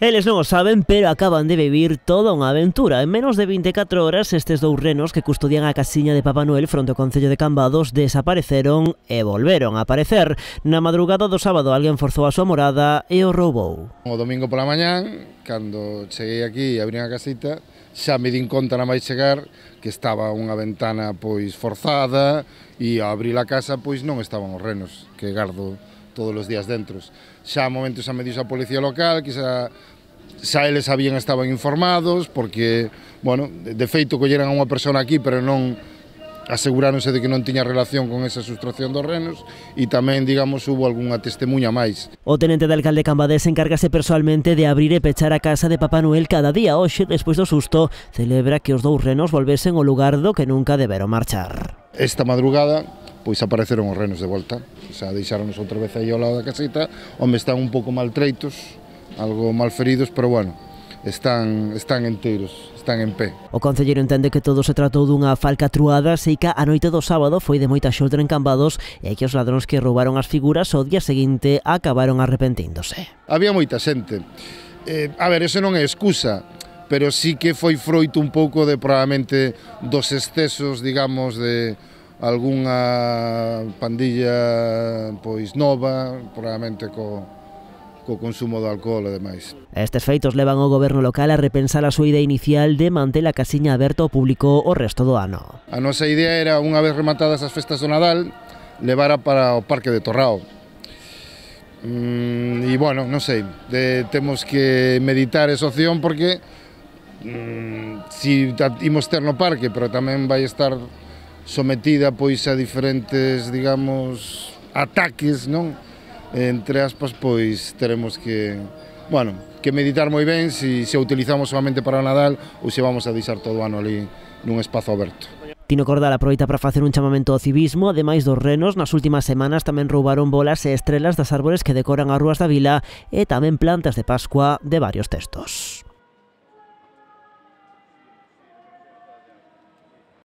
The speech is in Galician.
Eles non o saben, pero acaban de vivir toda unha aventura. En menos de 24 horas, estes dous renos que custodian a casiña de Papá Noel fronte ao concello de Cambados desapareceron e volveron a aparecer. Na madrugada do sábado alguén forzou a súa morada e o roubou. O domingo pola mañán, cando cheguei aquí e abrín a casita, xa me din conta na máis chegar que estaba unha ventana pois forzada e ao abrir a casa pois non estaban os renos que gardo todos os días dentro. Xa a momento xa me dixo a policía local que xa eles estaban informados porque, bueno, de feito colleran a unha persona aquí pero non aseguráronse de que non tiña relación con esa sustracción dos renos e tamén, digamos, hubo algunha testemunha máis. O tenente de alcalde Cambadés encárgase persoalmente de abrir e pechar a casa de Papá Noel cada día. Hoxe, despois do susto, celebra que os dous renos volvesen ao lugar do que nunca deberon marchar. Esta madrugada, pois apareceron os renos de volta, xa deixáronos outra vez aí ao lado da casita, onde están un pouco maltreitos, algo mal feridos, pero bueno, están enteiros, están en pé. O concelleiro entende que todo se tratou dunha falcatruada, sei que a noite do sábado foi de moita xodra en Cambados e que os ladróns que roubaron as figuras o día seguinte acabaron arrepentíndose. Había moita xente. A ver, eso non é excusa, pero sí que foi froito un pouco de probablemente dos excesos, digamos, de algunha pandilla pois nova, probablemente co consumo de alcohol e demais. Estes feitos levan ao goberno local a repensar a súa idea inicial de manter a casiña aberta ao público o resto do ano. A nosa idea era, unha vez rematadas as festas do Nadal, levara para o Parque de Torrao. E, bueno, non sei, temos que meditar esa opción porque si imos ter no parque, pero tamén vai estar sometida pois a diferentes, digamos, ataques, non? Entre aspas, pois teremos que, bueno, que meditar moi ben se a utilizamos solamente para o Nadal ou se vamos a deixar todo o ano ali nun espazo aberto. Tino Cordal aproveita para facer un chamamento ao civismo. Ademais dos renos, nas últimas semanas tamén roubaron bolas e estrelas das árbores que decoran as rúas da vila e tamén plantas de Pascua de varios textos.